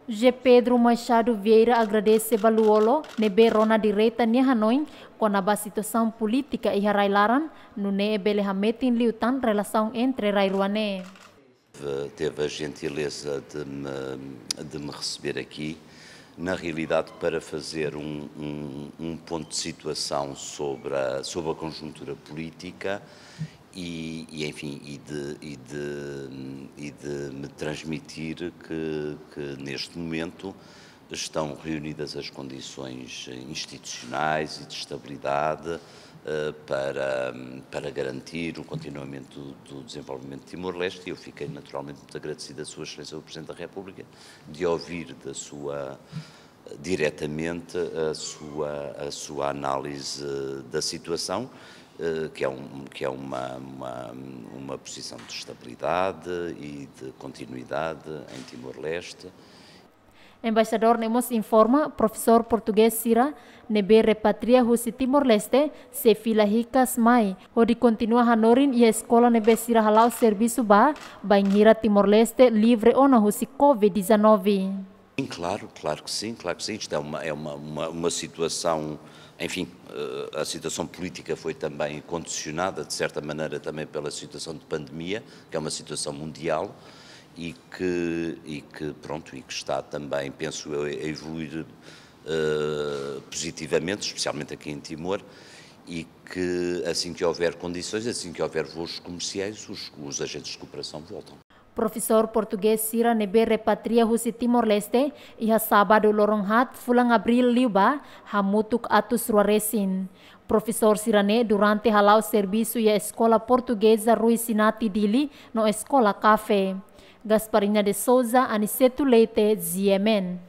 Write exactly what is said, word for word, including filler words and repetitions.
José Pedro Machado Vieira agradese ba Lú-Olo ne'ebé rona direta nia hanoin kona-ba situasaun polítika iha rai-laran, nune'e bele hametin liután relasaun entre rai rua ne'e. Teve a gentileza de me, de me receber aqui, na realidade, para fazer um, um, um ponto de situação sobre a, sobre a conjuntura política e, e, enfim, e de, e de, e de me transmitir que, que neste momento estão reunidas as condições institucionais e de estabilidade, eh, para, para garantir o continuamento do, do desenvolvimento de Timor-Leste, e eu fiquei naturalmente muito agradecido a Sua Excelência o Presidente da República de ouvir da sua, diretamente a sua, a sua análise da situação, eh, que é, um, que é uma, uma, uma posição de estabilidade e de continuidade em Timor-Leste. Embaixadór ne'e mós informa, profesór portugés sira ne'ebé repatria husi Timor-Leste sei fila hikas mai, hodi kontinua hanorin iha eskola ne'ebé sira hala'o servisu ba, bainhira Timor-Leste livre ona husi covid dezanove. Sim, claro, claro que sim, claro que sim. Isto é uma, é uma, uma, uma situação, enfim, eh, a situação política foi também condicionada, de certa maneira, também pela situação de pandemia, que é uma situação mundial e que, e que, pronto, e que está também, penso eu, a evoluir, eh, positivamente, especialmente aqui em Timor, e que assim que houver condições, assim que houver voos comerciais, os, os agentes de cooperação voltam. Profesór portugés sira ne'ebé repatria husi Timor-Leste iha sábadu loron haat fulan Abríl liubá hamutuk atus rua resin. Profesór sira-ne'e durante hala'o servisu iha Eskola Portugeza Rui Sinati Dili no Eskola Café. Gasparinha de Souza, Aniceto Leite, G M N.